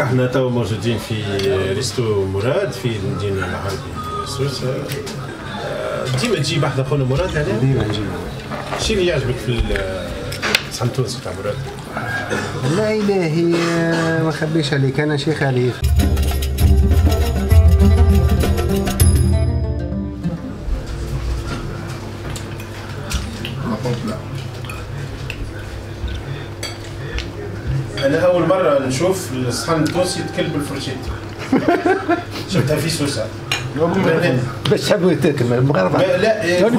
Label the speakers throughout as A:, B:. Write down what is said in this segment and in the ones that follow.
A: احنا تو موجودين في resto مراد في المدينة العربي سوسة. ديما تجي بحذا خونا مراد هنا؟
B: ديما نجي.
A: شنو اللي يعجبك في الصحن التونسي تاع مراد؟
B: لا إلهي ما نخبيش عليك، أنا شيخ عليه.
A: أنا أول مرة نشوف الصحن التونسي يتكل بالفرشيت. شفتها في سوسة.
B: باش تحبوا يتاكل بالمغرفة.
A: لا يعني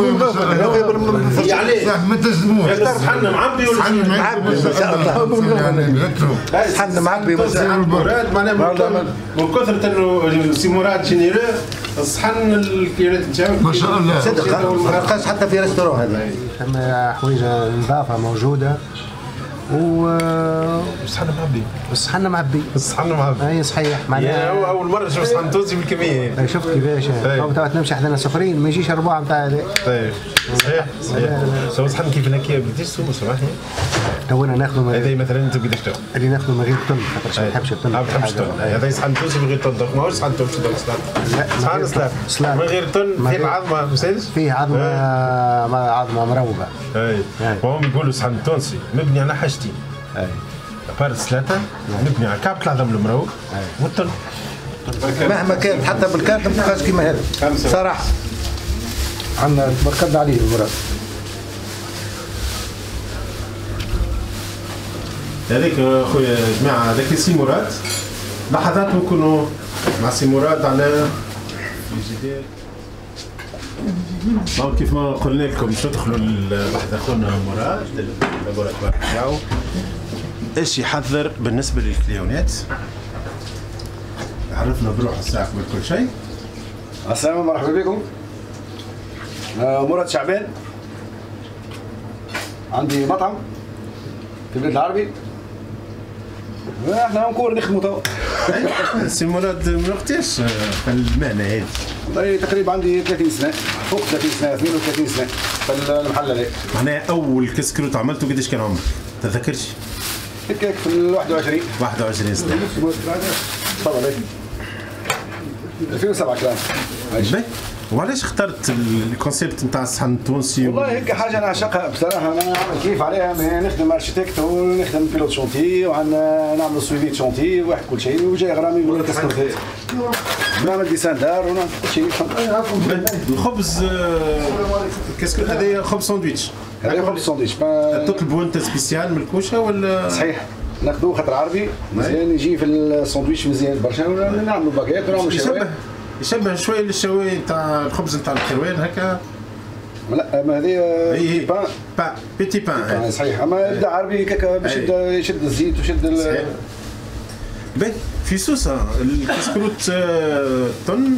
C: ما تزموش.
A: الصحن معبي ولا
B: صحن معبي ما شاء الله. صحن معبي
A: مراد معناها من كثرة انه سي مراد généreux الصحن الكيلات نتاعو
C: ما شاء الله.
B: صدق ما تلقاش حتى في restaurant هذا. ثم حوايج نظافة موجودة. و
A: الصحن معبي.
B: الصحن معبي.
A: الصحن معبي.
B: اي صحيح معناها
A: اول مرة نشوف صحن تونسي بالكمية.
B: شفت كيفاش؟ تو تمشي حدنا سخرين ما يجيش الربع نتاع هذا.
A: طيب صحيح صحيح. سو صحن كيف هكا قداش سومو سامحني؟
B: تو انا ناخذ
A: هذا مثلا انت قداش تاخذ؟
B: اللي ناخذه من غير طن خاطر ما نحبش الطن.
A: ما تحبش الطن. هذا صحن تونسي من غير طن، ماهوش صحن تونسي
B: لا
A: صحن سلطة من غير طن فيه عظمه ما يسالش؟
B: فيه عظمه عظمه مروبه.
A: اي وهم يقولوا صحن تونسي مبني على حاجتين.
B: اي
A: à part السلطة مبني على كعبة العظم المروق والطن.
B: مهما كانت حتى بالكارت ما تبقاش كيما هذا صراحة. عندنا تبارك الله عليه المراد.
A: هذيك خويا جماعة هذاك سي مراد. لحظات نكونوا مع سي مراد على الجدال. donc كيف ما قلنا لكم باش تدخلوا لحظة خونا مراد ال laboratoire تاعو ايش يحضر بالنسبة للكليونات. عرفنا بروح الساعة قبل كل شيء.
D: السلام مرحبا بكم. مراد شعبان، عندي مطعم في البلاد العربي. احنا encore نخدموا توا.
A: سي مراد من وقتاش في المهنة هذه؟
D: والله تقريبا عندي 30 سنة، فوق 30 سنة، 32 سنة في المحل هذا.
A: معناها اول كسكروت عملته قداش كان عمرك؟ تذكرش؟
D: هكاك في ال 21.
A: 21 سنة.
D: تفضل. 2007 كلام.
A: وعلاش اخترت ال concept نتاع الصحن التونسي؟
D: والله هيك حاجة نعشقها بصراحة، انا نعمل كيف عليها، نخدم architecte ونخدم pilote chantier وعندنا نعمل suivi chantier واحد كل شيء، وجاي غرامي يقول لك كسكروتات. نعمل dessin دار ونعمل كل شيء.
A: الخبز الكسكروت هذايا خبز ساندويتش.
D: هذا خبز ساندويتش.
A: تطلبوا انت spécial من الكوشة ولا؟
D: صحيح ناخذوه خاطر عربي مزيان يجي في الساندويتش مزيان برشا، نعملوا باكيت ونعملوا شوايه.
A: يشبه شوية للشوايه نتاع الخبز نتاع الحلوان هكا.
D: لا ما هذه pain
A: pain petit pain.
D: صحيح اما يبدا عربي هكاك باش يبدا يشد الزيت ويشد.
A: باهي في سوسة الكسكروت طن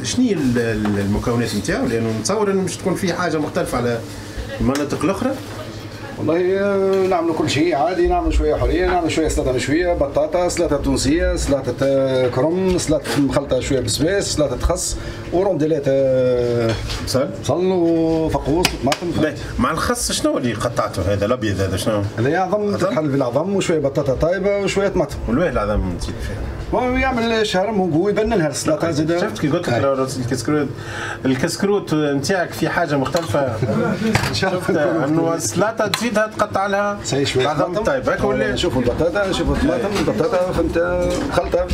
A: شنو هي المكونات نتاعو؟ لانه نتصور انه مش تكون فيه حاجة مختلفة على المناطق الاخرى.
D: والله نعملوا كل شيء عادي، نعملوا شوية حرية، نعملوا شوية سلطة مشوية، بطاطا، سلطة تونسية، سلطة كرم، سلطة مخلطه شوية بسباس، سلطة خس، ورونديلات
A: بصل
D: بصل وفقوس وطماطم.
A: مع الخس شنو اللي قطعته هذا الابيض هذا شنو؟
D: هذا عظم تتحل بالعظم وشوية بطاطا طايبه وشوية طماطم.
A: والواه العظم تزيد فيه؟
D: يعمل شهرم ويبنن لها السلطة زاد.
A: شفت كي قلت لك الكسكروت الكسكروت نتاعك في حاجة مختلفة. شفت انه السلطة تزيدها تقطع لها عظم طيب هكا ولا؟
D: نشوفوا البطاطا نشوفوا الطماطم البطاطا فهمت خلطه.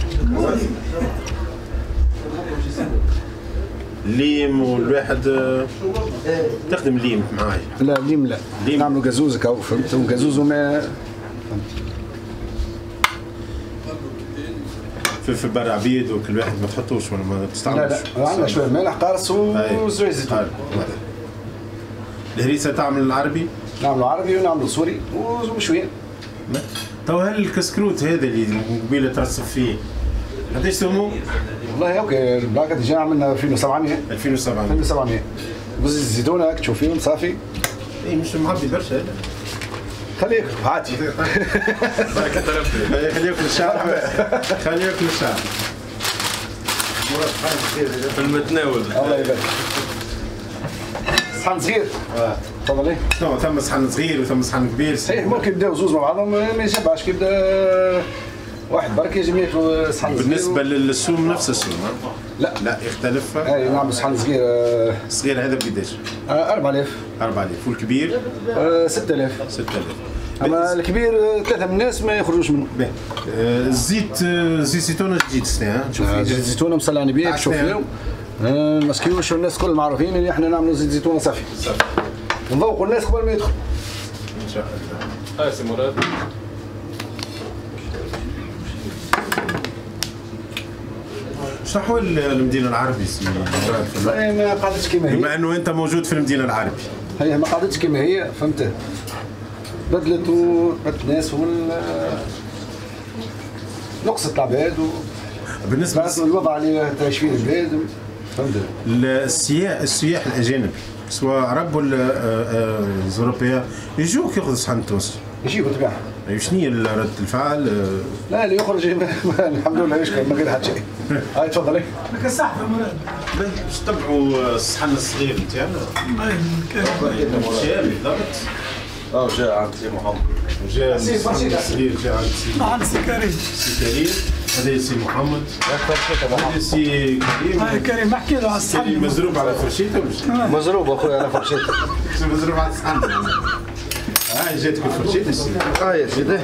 A: ليم والواحد تخدم ليم معايا؟
D: لا ليم لا، نعملوا قزوز هكا فهمت، وقزوز وما
A: فلفل بر عبيد وكل واحد ما تحطوش ولا ما تستعملوش.
D: لا لا عندنا شوية مالح قارص وزيت زيتون.
A: الهريسه تعمل العربي؟
D: نعملوا عربي ونعملوا سوري ومشويين.
A: تو هل الكسكروت هذا اللي قبيلة ترصف فيه قداش سمو؟
D: والله OK ال plaque déjà عملنا 2700.
A: 2700
D: 2700 وزيت الزيتون هاك تشوف فيهم صافي.
A: اي مش معبي برشا هذا.
D: خليك عادي.
A: بركة ربي. خليه ياكل الشعر. خليه ياكل الشعر.
E: في المتناول.
D: الله يبارك. صحن صغير. تفضلي.
A: شنو ثم صحن صغير وثم صحن كبير.
D: صحيح ممكن يبداو زوز مع بعضهم ما يشبعش كي يبدا واحد برك يجم ياكل صحن صغير.
A: بالنسبة للسوم نفس السوم؟
D: لا
A: لا يختلف.
D: اي نعمل صحن صغير.
A: الصغير هذا بقداش؟
D: 4000.
A: 4000. والكبير؟
D: 6000.
A: 6000.
D: اما الكبير 3 من الناس ما يخرجوش منه.
A: باهي. الزيت زيت زيتونه جديد السنة، نشوف
D: زيت زيتونه مصلعني بيه تشوف فيهم مسكيوش، والناس الكل معروفين اللي احنا نعملوا زيت زيتونه صافي.
A: صافي.
D: نذوقوا الناس قبل ما يدخلوا.
A: ان شاء الله.
E: هاي سي مراد.
A: شنو احوال المدينة العربي سي مراد؟
D: ما قعدتش كما هي.
A: بما انه انت موجود في المدينة العربي.
D: هي ما قعدتش كما هي، فهمت؟ بدلت وبدلت الناس نقصت العباد
A: بالنسبة
D: للوضع اللي تعيش فيه البلاد، فهمت؟
A: السياح الاجانب سواء عرب ولا اوروبيين يجوك ياخذوا صحن تونسي.
D: يجيو بالطبيعة.
A: شنو هي ردة الفعل؟
D: لا اللي يخرج الحمد لله يشكر من غير حتى شيء. هاي تفضلي.
C: لك الصحفه مراد.
A: باش تبعوا الصحن الصغير نتاعنا. اي بالضبط.
E: جاء عند سي محمد.
A: جاء الصغير، جاء عند سي
C: عند سي كريم.
A: سي كريم، هذا سي محمد. هذا سي كريم.
C: هاي كريم احكي له على الصحن.
A: مزروب على فرشيته
D: مزروب اخويا على فرشيته.
A: مزروب على الصحن. هاي جاتك الفرشيته سيدي.
E: هاي يا سيدي.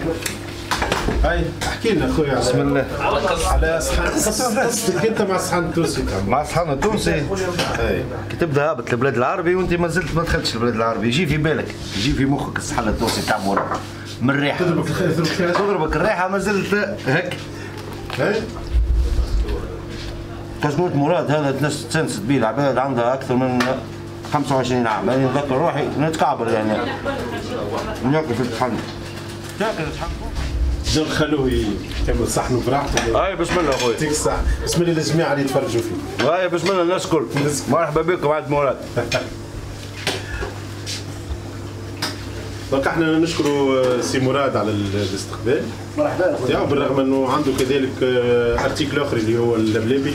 A: هاي احكي لنا اخويا
E: بسم الله
A: على صحن قصتك انت مع الصحن التونسي.
E: مع الصحن التونسي كي تبدا هابط البلاد العربي وانت ما زلت ما دخلتش البلاد العربي، يجي في بالك، يجي في مخك الصحن التونسي تاع مراد من الريحة. تضربك الريحة ما زلت هك. كاسكروت مراد هذا تنست به العباد عندها اكثر من 25 عام، يعني نذكر روحي نتكعبر يعني ناكل في الطحن. تاكل الطحن.
A: خلوه يكمل صحنه براحته.
E: هاي بسم الله اخويا.
A: يعطيك الصحة، بسم الله للجميع اللي يتفرجوا فيه.
E: هاي بسم الله الناس الكل. مرحبا بكم عند مراد.
A: donc احنا نشكروا سي مراد على الاستقبال.
D: مرحبا اخويا.
A: بالرغم انه عنده كذلك article اخر اللي هو اللبلابي.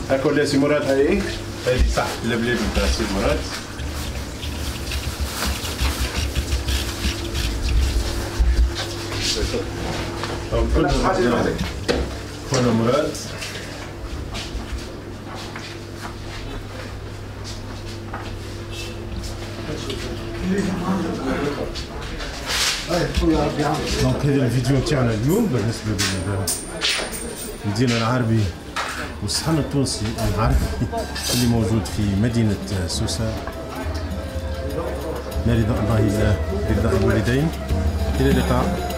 A: هاك ولا سي مراد؟
D: اي
A: هذه صح اللبلابي نتاع سي مراد. خونا مراد. donc هذا الفيديو نتاعنا اليوم بالنسبة للمدينة العربي والصحن التونسي العربي اللي موجود في مدينة سوسة. لا رضا الله إلا برضا الوالدين. إلى اللقاء.